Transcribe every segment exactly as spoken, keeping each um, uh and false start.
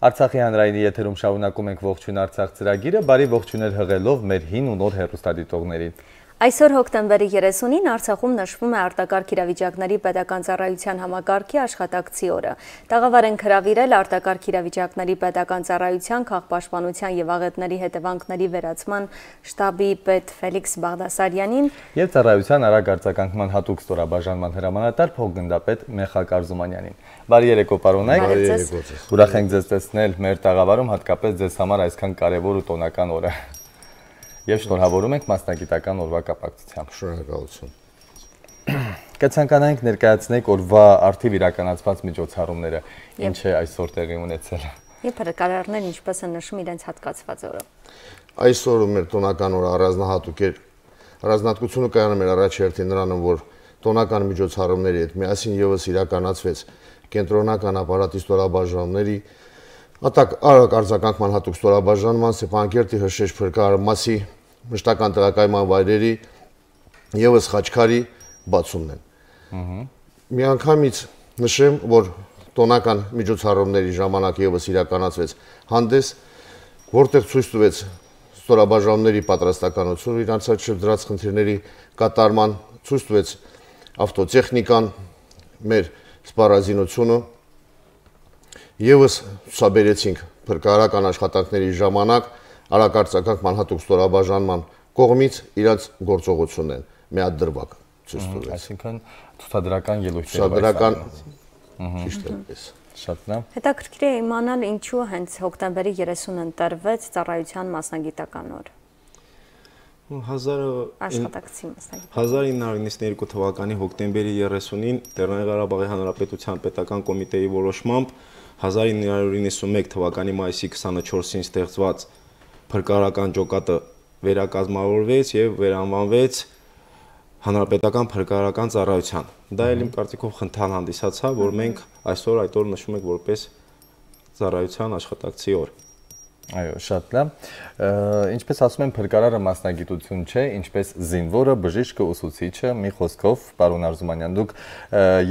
Արցախի հանրայինի եթերում շարունակում ենք ողջույն Արցախ ծրագիրը, բարի ողջույներ հղելով մեր հին ու նոր հեռուստադիտողներին։ Այսօր հոկտեմբերի երեսունին Արցախում նշվում է արտակարգ իրավիճակների պետական ծառայության համակարգի աշխատակցի օրը։ Տաղավար են հրավիրել արտակարգ իրավիճակների պետական ծառայության քաղաքապաշտպանության եւ աղետների հետևանքների վերացման շտաբի պետ Ֆելիքս Բաղդասարյանին եւ ծառայության արագ արձագանքման հատուկ ստորաբաժանման հրամանատար փոխգնդապետ Մեխակ Արզումանյանին։ Բարի երեկո, պարոնայք։ Ուրախ ենք ձեզ տեսնել մեր տաղավարում, հատկապես ձեզ համար այսքան կարևոր ու տոնական օրը։ Եվ շնորհավորում ենք մասնագիտական օրվա կապակցությամբ։ Շնորհակալություն։ Կցանկանայինք ներկայացնենք օրվա արդիվ իրականացված միջոցառումները, ինչ է այսօր տեղի ունեցել։ Եվ փրկարարներն ինչպես են նշում իրենց հատկացված օրը։ Այսօրը մեր տոնական օրը առանձնահատուկ էր։ Առանձնահատկությունը կայանում էր առաջերտին նրանում, որ տոնական միջոցառումների հետ միասին եւս իրականացվեց կենտրոնական ապարատի ստորաբաժանումների Ատակ արագ արձագանքման հատուկ ստորաբաժանման Սեփանակերտի Հրշեջ փրկարարմասի մշտական տեղակայման վայրերի եւս Խաչքարի բացումն են։ Միանգամից նշեմ, որ տոնական միջոցառումների ժամանակ եւս իրականացվեց հանդես, որտեղ ցույց տվեց ստորաբաժանումների պատրաստականությունը իրանց առջև դրած խնդիրների կատարման, ցույց տվեց ավտոտեխնիկան, մեր սպառազինությունը Եվս ցուցաբերեցինք փրկարարական աշխատանքների ժամանակ արագ արձագանքման հատուկ ստորաբաժանման կողմից իրաց գործողությունն են միադրվակ ցույց տվեց։ Այսինքն ցուցադրական ելույթներ։ Ցուցադրական ճիշտ է։ Շատ լավ։ Հետաքրքիր է իմանալ ինչու հենց հոկտեմբերի երեսունը ընտրվեց ծառայության մասնագիտական օր։ Աշխատակցի մասնագիտական։ հազար ինը հարյուր նվաթ թվականի հոկտեմբերի երեսունին Լեռնային Ղարաբաղի Հանրապետության պետական կոմիտեի որոշմամբ հազար ինը հարյուր իննսունմեկ թվականի մայիսի քսանչորսին ստեղծված փրկարարական ջոկատը վերակազմավորվեց եւ վերանվանվեց Հանրապետական փրկարարական ծառայության։ Դա էլ իմ կարծիքով խնդան հանդիսացավ, որ մենք այսօր այդ օրը նշում ենք որպես ծառայության աշխատակցի օր։ Այո, շատ լավ։ Ինչպես ասում են, փրկարարը մասնագիտություն չէ, ինչպես զինվորը, բժիշկը, ուսուցիչը, մի խոսքով, պարոն Արզումանյան, դուք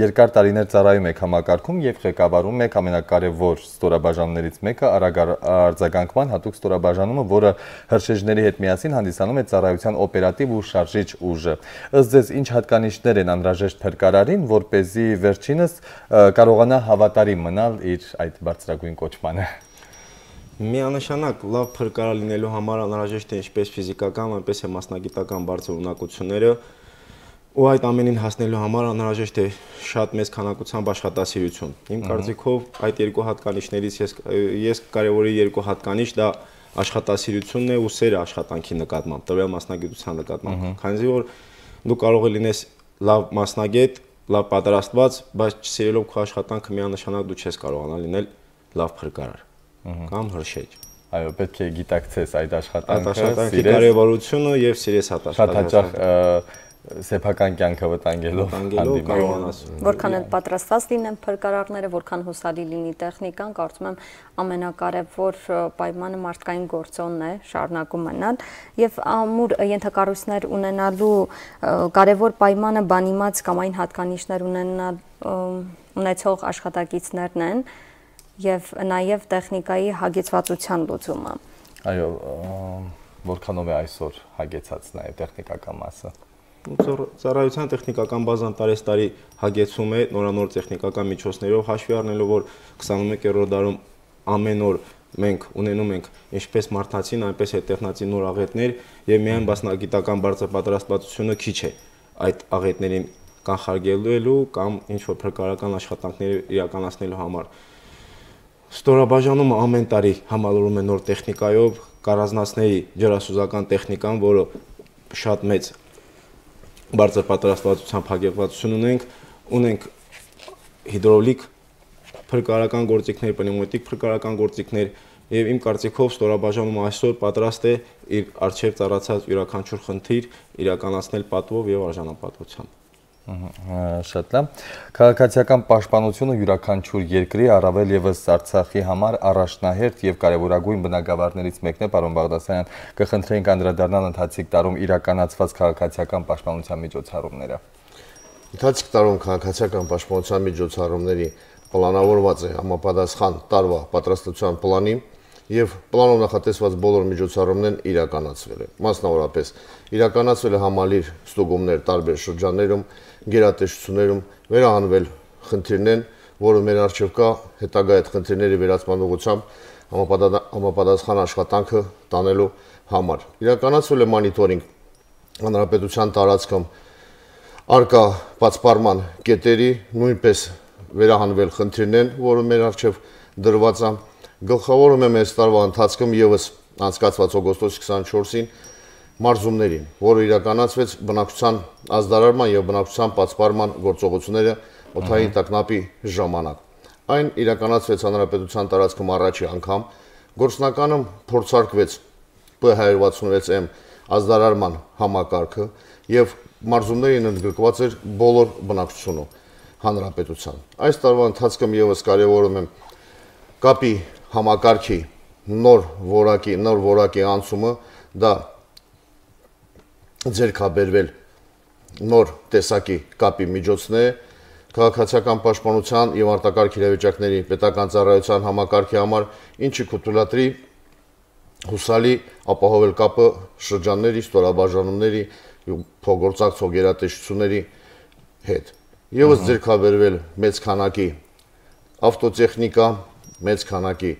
երկար տարիներ ծառայում եք համակարգում եւ ղեկավարում եք ամենակարևոր ստորաբաժանումներից մեկը արագ արձագանքման հատուկ ստորաբաժանումը, որը հրշեջների հետ միասին հանդիսանում է ծառայության օպերատիվ ու շարժիչ ուժը։ Ըստ ձեզ, ինչ հատկանիշներ են անհրաժեշտ փրկարարին, որ เป զի վերջինս կարողանա հավատարիմ մնալ իր այդ բարձրագույն կոչմանը։ Միանշանակ լավ փրկարար լինելու համար անհրաժեշտ է ինչպես ֆիզիկական, այնպես էլ մասնագիտական բարձր ունակությունները, ու այդ ամենին հասնելու համար անհրաժեշտ է շատ մեծ քանակությամբ աշխատասիրություն։ Իմ կարծիքով այդ երկու հատկանիշներից ես ես կարևորի երկու հատկանիշ, դա աշխատասիրությունն է ու սերը աշխատանքի նկատմամբ, տվյալ մասնագիտության նկատմամբ։ Քանի որ դու կարող ես լինես լավ մասնագետ, լավ պատրաստված, բայց սիրելով քո աշխատանքը միանշանակ դու չես կարողանա լինել լավ փրկարար։ Կամ հրշեջ։ Այո, պետք է գիտակցես այդ աշխատանքը, աշխատանքի կարևորությունը եւ սիրես հատ աշխատանքը։ Շատ հաճախ սեփական կյանքը վտանգելով կարողանաս։ Որքան էլ պատրաստված լինեն փրկարարները, որքան հուսալի լինի տեխնիկան, կարծում եմ ամենակարևոր պայմանը մարդկային գործոնն է, շարունակում մնալ եւ ամուր ենթակառույցներ ունենալու կարևոր պայմանը բանիմաց կամ այն հատկանիշներ ունենալ ունեցող աշխատակիցներն են եւ նաեւ տեխնիկայի հագեցվածության լուծումը։ Այո, որքանով է այսօր հագեցած նաեւ տեխնիկական մասը։ Ծառայության տեխնիկական բազան տարեստարի հագեցում է նորանոր տեխնիկական միջոցներով, հաշվի առնելով որ քսանմեկերորդ դարում ամեն օր մենք ունենում ենք ինչպես մարդացին, այնպես էլ տեխնացի նոր աղետներ եւ միայն մասնագիտական բարձր պատրաստվածությունը քիչ է այդ աղետներին կանխարգելելու կամ ինչ որ փրկարարական աշխատանքներ իրականացնելու համար։ Ստորաբաժանումը ամեն տարի համալրում է նոր տեխնիկայով, կառանձնացների ջրասուզական տեխնիկան, որը շատ մեծ բարձր պատրաստվածությամբ հագեցվածություն ունենք, ունենք հիդրոլիկ փրկարարական գործիքներ, պնևմատիկ փրկարարական գործիքներ եւ իմ կարծիքով ստորաբաժանումը այսօր պատրաստ է իր արժեվ ծառացած յուրաքանչյուր խնդիր իրականացնել պատվով եւ արժանապատվությամբ։ Շատ լավ։ Քաղաքացիական պաշտպանությունը յուրաքանչյուր երկրի, առավել եւս Արցախի համար առաջնահերթ եւ կարեւորագույն բնագավառներից մեկն է, պարոն Բաղդասարյան, կխնդրեինք անդրադառնալ ընթացիկ տարում իրականացված քաղաքացիական պաշտպանության միջոցառումները։ Ընթացիկ տարում քաղաքացիական պաշտպանության միջոցառումների պլանավորված է համապատասխան տարվա պատրաստության պլանին եւ պլանով նախատեսված բոլոր միջոցառումներն իրականացվել են։ Մասնավորապես իրականացվել է համալիր ստուգումներ տարբեր շրջաններում, գերատեսչություններում, վերահանվել խնդիրներն, որը մեր առջև կա հետագա այդ խնդիրների վերացման ուղղությամբ համապատասխան աշխատանքը տանելու համար։ Իրականացվել է մոնիտորինգ հանրապետության տարածքում արկա բացպարման կետերի, նույնպես վերահանվել խնդիրներն, որը մեր առջև դրված է։ Գլխավորում եմ այս տարվա ընթացքում եւս անցկացված օգոստոսի քսանչորսին մարզումներին, որը իրականացվեց բնակչության ազդարարման եւ բնակչության բացպարման գործողությունները օդային տագնապի ժամանակ։ Այն իրականացվեց հանրապետության տարածքում առաջի անգամ, գործնականում փորձարկվեց P one sixty-six M ազդարարման համակարգը եւ մարզումներին ընդգրկված էր բոլոր բնակչությունը հանրապետության։ Այս տարվա ընթացքում եւս կարևորում եմ կապի համակարգի նոր որակի, նոր որակի անցումը, դա ձեռքաբերվել նոր տեսակի կապի միջոցներ, քաղաքացիական պաշտպանության եւ արտակարգ իրավիճակների պետական ծառայության համակարգի համար, ինչը կթույլատրի հուսալի ապահովել կապը շրջանների, ստորաբաժանումների, փոխգործակցող գերատեսչությունների հետ։ Եվս ձեռքաբերվել մեծ քանակի ավտոտեխնիկա, մեծ քանակի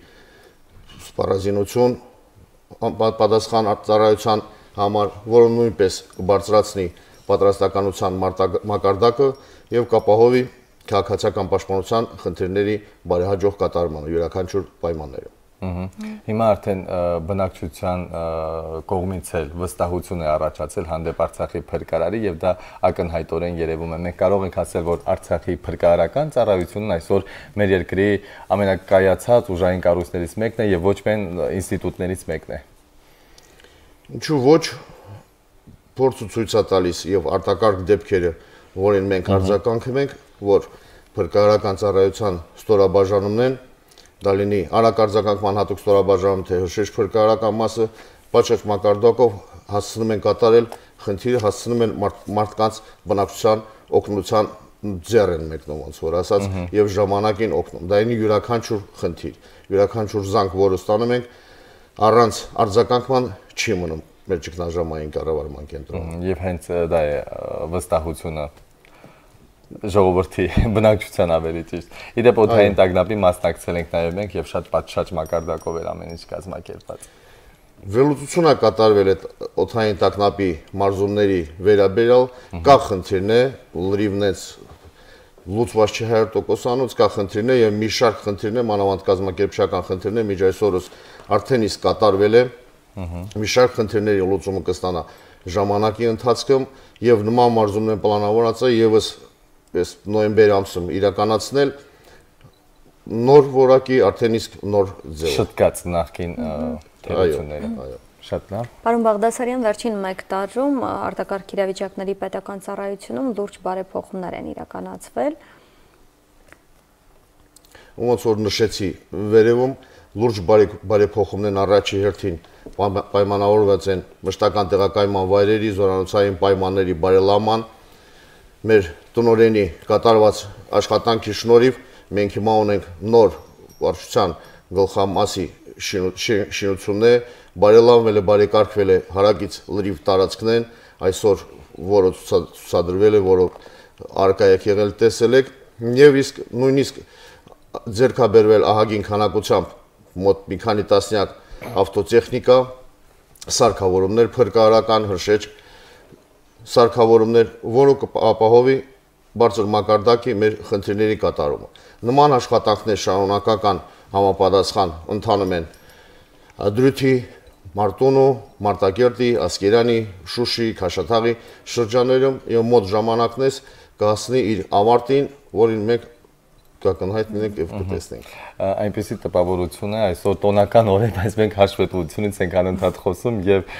սպառազինություն պատասխան ծառայության համար, որը նույնպես կբարձրացնի պատրաստականության մակարդակը եւ կապահովի քաղաքացիական պաշտպանության խնդիրների բարեհաջող կատարմանը յուրաքանչյուր պայմաններում։ Հիմա արդեն բնակչության կողմից էլ վստահություն է առաջացել հանդեպ Արցախի փրկարարի եւ դա ակնհայտորեն երևում է։ Մենք կարող ենք ասել, որ Արցախի փրկարարական ծառայությունն այսօր մեր երկրի ամենակայացած ուժային կառույցներից մեկն է եւ ոչ միայն ինստիտուտներից մեկն է։ Ինչու ոչ, փորձը ցույց է տալիս եւ արտակարգ դեպքերը, որին մենք արձագանքում ենք, որ փրկարարական ծառայության ստորաբաժանումներն դա լինի արագ արձագանքման հատուկ ստորաբաժանում, թե հրշեջ փրկարարական մասը պատշաճ մակարդակով հասցնում են կատարել խնդիրը, հասցնում են մարդկանց բնակչության օգնության ձեռ են մեկնում, ոնց որ ասած, եւ ժամանակին օգնում։ Դա ինի յուրաքանչյուր խնդիր, յուրաքանչյուր զանգ, որը ստանում ենք, առանց արձագանքման չի մնում մեր ճգնաժամային կառավարման կենտրոնում։ Եվ հենց դա է վստահությունը ժողովրդի բնակչության ավելի ճիշտ։ Իդեպ օդային տագնապի մասնակցել ենք նաև մենք եւ շատ պատշաճ մակարդակով էր ամեն ինչ կազմակերպված։ Վերլուծություն է կատարվել այդ օդային տագնապի մարզումների վերաբերյալ, կա խնդիրներ, լրիվնից լուծված չի one hundred տոկոսանոց, կա խնդիրներ եւ մի շարք խնդիրներ, մանավանդ կազմակերպչական խնդիրներ միջ այսօրս արդեն իսկ կատարվել է։ Մի շարք խնդիրների լուծումը կստանա ժամանակի ընթացքում եւ նման մարզումներ պլանավորված է եւս այս նոյեմբեր ամսում իրականացնել նոր որակի արդեն իսկ նոր ձև։ Շտկած նախքին թերությունները։ Շատ լավ։ Պարոն Բաղդասարյան, վերջին մեկ տարում արտակարգ իրավիճակների պետական ծառայությունում լուրջ բարեփոխումներ են իրականացվել։ Ոնց որ նշեցի, վերևում լուրջ բարեփոխումներն առաջի հերթին պայմանավորված են մշտական տեղակայման վայրերի, զորանոցային պայմանների բարելավման, մեր տնօրենի կատարված աշխատանքի շնորհիվ մենք հիմա ունենք նոր վարչության գլխամասի շինություններ, բարելավվել է, բարեկարգվել է հարակից լրիվ տարածքներն, այսօր որը ցուցադրվել է, որը արկա եք եղել տեսել եք, եւ իսկ նույնիսկ ձեռքաբերվել ահագին քանակությամբ մոտ մի քանի տասնյակ ավտոտեխնիկա, սարքավորումներ, փրկարարական հրշեջ սարքավորումներ, որը կապահովի բարձր մակարդակի մեր խնդիրների կատարումը։ Նման աշխատանքներ շարունակական համապատասխան ընթանում են Դրութի, Մարտունու, Մարտակերտի, Ասկերանի, Շուշի, Քաշաթաղի շրջաններում եւ մոտ ժամանակներս կհասնի իր ավարտին, որին մենք կակնհայտ լինենք եւ կտեսնենք։ Այնպեսի տպավորություն է այսօր տոնական օրեր, բայց մենք հաշվետվությունից ենք անընդհատ խոսում եւ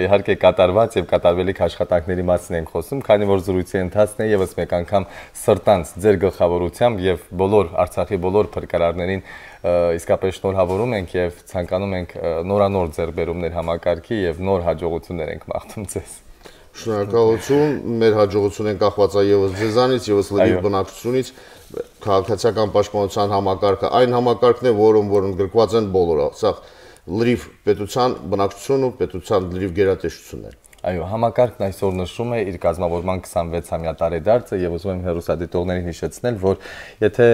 իհարկե կատարված եւ կատարվելիք աշխատանքների մասին ենք խոսում, քանի որ զրույցի ընթացն է եւս մեկ անգամ սրտանց ձեր գլխավորությամբ եւ բոլոր Արցախի բոլոր փրկարարներին իսկապես շնորհավորում ենք եւ ցանկանում ենք նորանոր ձեռբերումներ համակարգի եւ նոր հաջողություններ ենք մաղթում ձեզ։ Շնորհակալություն, մեր հաջողությունն կախված է եւս ձեզանից, եւս լրիվ բնակչությունից, քաղաքացիական պաշտպանության համակարգը, այն համակարգն է, որում որոնք գրկված են բոլորը, սա լրիվ պետության բնակչությունն ու պետության լրիվ գերատեսչությունն է։ Այո, համակարգն այսօր նշում է իր կազմավորման քսանվեցամյա տարեդարձը եւ ուզում եմ հեռուստադիտողներին հիշեցնել, որ եթե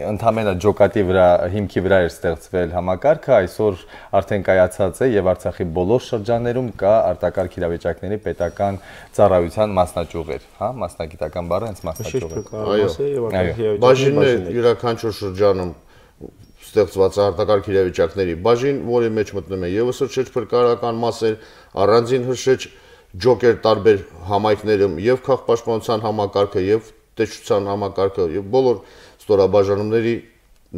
ընդհանրապես ջոկատի վրա հիմքի վրա էր ստեղծվել համակարգը, այսօր արդեն կայացած է եւ Արցախի բոլոր շրջաններում կա արտակարգ իրավիճակների պետական ծառայության մասնաճյուղեր, հա, մասնագիտական բառը հենց մասնաճյուղ է։ Այո, բաժինը յուրաքանչյուր շրջանում ստեղծված արտակարգ իրավիճակների բաժին, որի մեջ մտնում է եւս հրշեջ փրկարարական մասեր, առանձին հրշեջ ջոկեր տարբեր համայնքներում եւ քաղաքապաշտպանության համակարգը եւ տեսչության համակարգը եւ բոլոր ստորաբաժանումների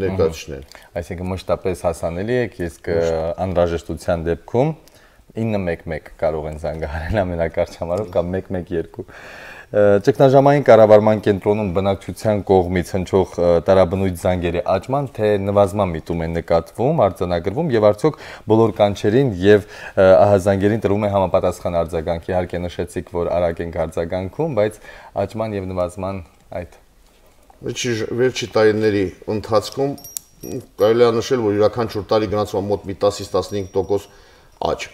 ներկայացուցիչներ։ Այսինքն մշտապես հասանելի է, իսկ անհրաժեշտության դեպքում ինը մեկ մեկ կարող են զանգահարել ամենակարճ համարով կամ մեկ մեկ երկու։ Ճգնաժամային կառավարման կենտրոնում բնակչության կողմից հնչող տարաբնույթ զանգերի աճման թե նվազման միտում է նկատվում, արձանագրվում եւ արդյոք բոլոր կանչերին եւ ահազանգերին տրվում է համապատասխան արձագանք։ Իհարկե նշեցիք, որ արագ ենք արձագանքում, բայց աճման եւ նվազման այդ վերջի տարիների ընթացքում կարելի է նշել, որ յուրաքանչյուր տարի գնացվում է մոտ մի տասից տասնհինգ տոկոս աճ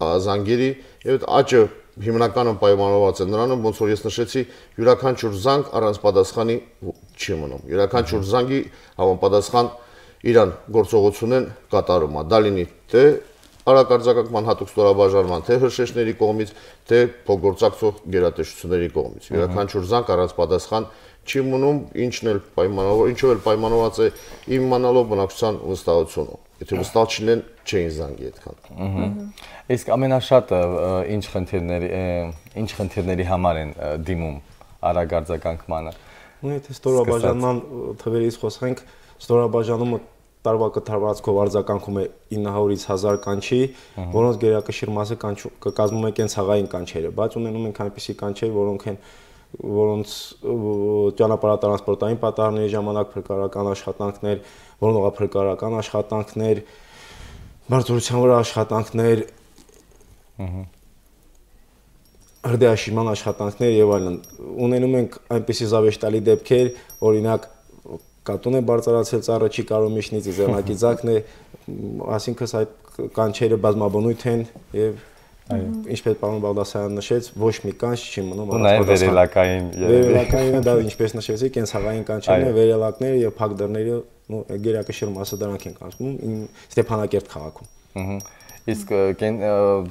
զանգերի եւ աճը հիմնականում պայմանավորված է նրանում, ոնց որ ես նշեցի, յուրաքանչյուր զանգ առանց պատասխանի չի մնում։ Յուրաքանչյուր զանգի համապատասխան իրան գործողություն են կատարում, դա լինի թե արագ արձագանքման հատուկ ստորաբաժանման, թե հրշեջների կողմից, թե փոխգործակցող գերատեսչությունների կողմից։ Յուրաքանչյուր զանգ առանց պատասխան չի մնում, ինչն էլ պայմանավոր, ինչով էլ պայմանավորված է իմանալով բնակչության վստահությունը։ Եթե վստահ չլինեն, չէին զանգի այդքան։ Իսկ ամենաշատը ինչ խնդիրների ինչ խնդիրների համար են դիմում արագ արձագանքմանը։ Ու եթե ստորաբաժանման թվերից խոսենք, ստորաբաժանումը տարվա կտրվածքով արձագանքում է ինը հարյուրից հազար կանչի, որոնց գերակշիռ մասը կկազմում է կենցաղային կանչերը, բայց ունենում ենք այնպիսի կանչեր, որոնք են որոնց ճանապարհատրանսպորտային պատահարների ժամանակ փրկարարական աշխատանքներ, որոնողափրկարարական աշխատանքներ, բարձրության վրա աշխատանքներ, հրդեհաշինման աշխատանքներ եւ այլն։ Ունենում ենք այնպիսի զավեշտալի դեպքեր, օրինակ կատուն է բարձրացել ծառը չի կարող միշնից ձեռնակի ձակն է, այսինքն այդ կանչերը բազմաբնույթ են եւ ինչպես պարոն Բաղդասարյանը նշեց, ոչ մի կանչ չի մնում առանց վերելակային վերելակայինը դա ինչպես նշեցի, կենցաղային կանչերն են, վերելակները եւ փակ դռները, ու գերակշիռ մասը դրանք են կանչում Ստեփանակերտ քաղաքում։ Իսկ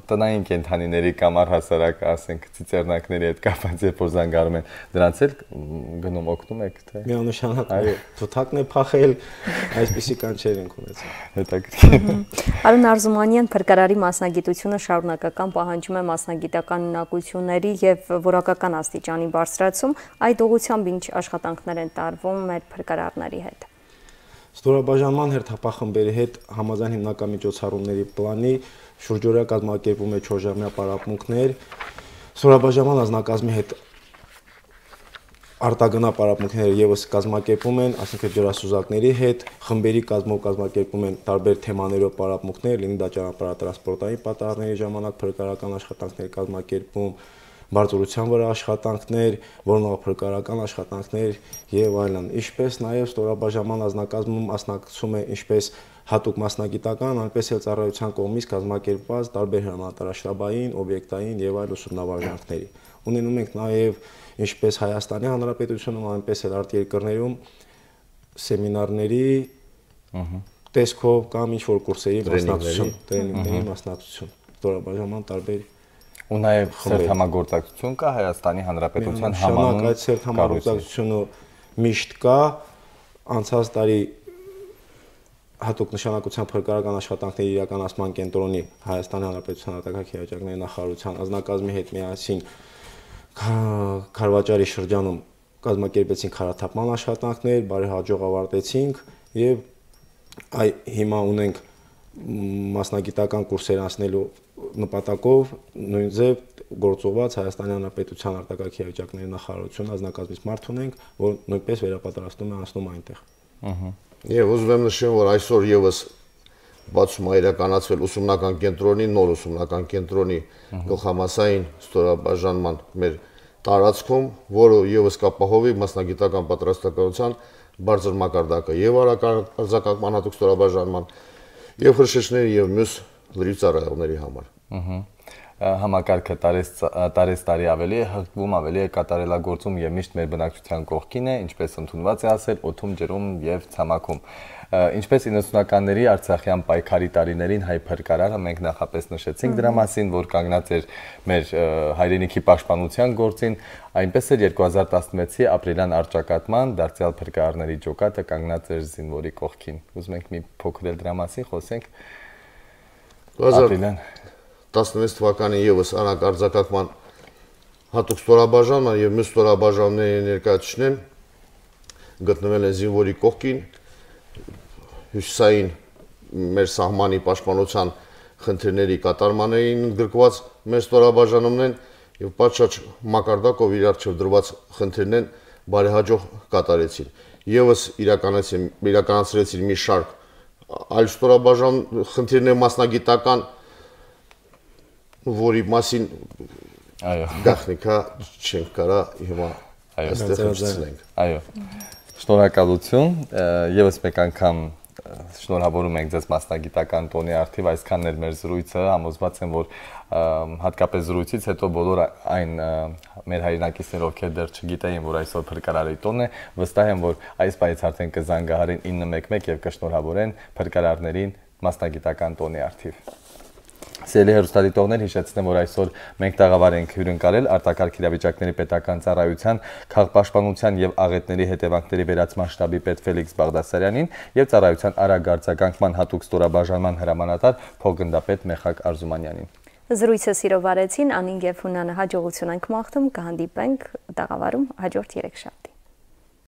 տնային կենդանիների կամ առհասարակ, ասենք, ծիծեռնակների հետ կապված երբ որ զանգարում են, դրանց էլ գնում օգնում եք թե։ Միանշանակ թութակն է փախել, այսպիսի կանչեր ենք ունեցել։ Հետաքրքիր։ Արոն Արզումանյան, փրկարարի մասնագիտությունը շարունակական պահանջում է մասնագիտական ունակությունների եւ որակական աստիճանի բարձրացում, այդ ուղղությամբ ինչ աշխատանքներ են տարվում մեր փրկարարների հետ։ Ստորաբաժանման հերթապահխմբերի հետ համաձայն հիմնական միջոցառումների պլանի շուրջօրյա կազմակերպում է չորժամյա պարապմունքներ, ստորաբաժանման անձնակազմի հետ արտագնա պարապմունքները եւս կազմակերպում են, ասենք ջրասուզակների հետ, խմբերի կազմով կազմակերպում են տարբեր թեմաներով պարապմունքներ, լինի դա ճանապարհատրանսպորտային պատահարների ժամանակ փրկարարական աշխատանքներ կազմակերպում, բարձրության վրա աշխատանքներ, որոնողափրկարարական աշխատանքներ եւ այլն։ Ինչպես նաեւ ստորաբաժանման անձնակազմում մասնակցում է ինչպես հատուկ մասնագիտական, այնպես էլ ծառայության կողմից կազմակերպված տարբեր հրամանատարաշտաբային, օբյեկտային եւ այլ ուսումնավարժանքների։ Ունենում ենք նաեւ ինչպես Հայաստանի Հանրապետությունում, այնպես էլ արտերկրներում սեմինարների տեսքով կամ ինչ-որ կուրսերի մասնակցություն, տրեյնինգների մասնակցություն, ստորաբաժանման տարբեր ու նաև սերտ համագործակցություն կա Հայաստանի Հանրապետության համանուն այդ սերտ համագործակցությունը միշտ կա, անցած տարի հատուկ նշանակության փրկարարական աշխատանքների իրականացման կենտրոնի Հայաստանի Հանրապետության արտակարգ իրավիճակների նախարարության ազնագազմի հետ միասին Քարվաճարի շրջանում կազմակերպեցին քարաթափման աշխատանքներ, բարեհաջող ավարտեցինք եւ այ հիմա ունենք մասնագիտական կուրսեր անցնելու նպատակով նույն ձև գործողված Հայաստանի Հանրապետության արտակարգ իրավիճակների նախարարություն ազնագազմից մարդ ունենք, որ նույնպես վերապատրաստում է անցնում այնտեղ։ Եվ ուզում եմ նշեմ, որ այսօր եւս բացում է իրականացվել ուսումնական կենտրոնի, նոր ուսումնական կենտրոնի գլխամասային ստորաբաժանման մեր տարածքում, որը ևս կապահովի մասնագիտական պատրաստակամության բարձր մակարդակը եւ արձակագրման հատուկ ստորաբաժանման եւ հրշեջների եւ մյուս լրիվ ծառայողների համար։ Համակարգը տարեց տարի ավելի է հղկվում, ավելի է կատարելագործում եւ միշտ մեր բնակչության կողքին է, ինչպես ընդունված է ասել, օդում, ջրում եւ ցամաքում։ Ինչպես իննսունականների Արցախյան պայքարի տարիներին հայ փրկարարը մենք նախապես նշեցինք դրա մասին, որ կանգնած էր մեր հայրենիքի պաշտպանության գործին, այնպես էլ երկու հազար տասնվեցի ապրիլյան առճակատման դարձյալ փրկարարների ջոկատը կանգնած էր զինվորի կողքին։ Ուզում ենք մի փոքր էլ դրա մասին խոսենք։ Ապրիլյան տասնվեց թվականին ևս արագ արձակագրման հատուկ ստորաբաժանման եւ մյուս ստորաբաժանումների ներկայացուցիչներն գտնվել են զինվորի կողքին հյուսիսային մեր սահմանի պաշտպանության խնդիրների կատարմաններին գրկված մեր ստորաբաժանումներն եւ պատշաճ մակարդակով իր առջեւ դրված խնդիրներն բարեհաջող կատարեցին։ Եվս իրականացրեցին մի շարք այլ ստորաբաժան խնդիրներ մասնագիտական, որի մասին գաղտնիքա չենք կարա հիմա այստեղ հիշեցնենք։ Այո, շնորհակալություն, եւս մեկ անգամ շնորհավորում ենք ձեզ մասնագիտական տոնի արդիվ, այսքանն էր մեր զրույցը, համոզված եմ, որ հատկապես զրույցից հետո բոլոր այն մեր հայրենակիցներ, ովքեր դեռ չգիտեին, որ այսօր փրկարարի տոնն է, վստահ եմ, որ այս պահից արդեն կզանգահարեն ինը մեկ մեկ եւ կշնորհավորեն փրկարարներին մասնագիտական տոնի արդիվ։ Սիրելի հեռուստադիտողներ, հիշեցնեմ, որ այսօր մենք տաղավար ենք հյուրընկալել արտակարգ իրավիճակների պետական ծառայության քաղաքապաշտպանության եւ աղետների հետևանքների վերացման շտաբի պետ Ֆելիքս Բաղդասարյանին եւ ծառայության արագ արձագանքման հատուկ ստորաբաժանման հրամանատար փոխգնդապետ Մեխակ Արզումանյանին։ Զրույցը սիրով արեցին Անին եւ Հունանը հաջողություն ենք մաղթում, կհանդիպենք տաղավարում հաջորդ երեքշաբթի։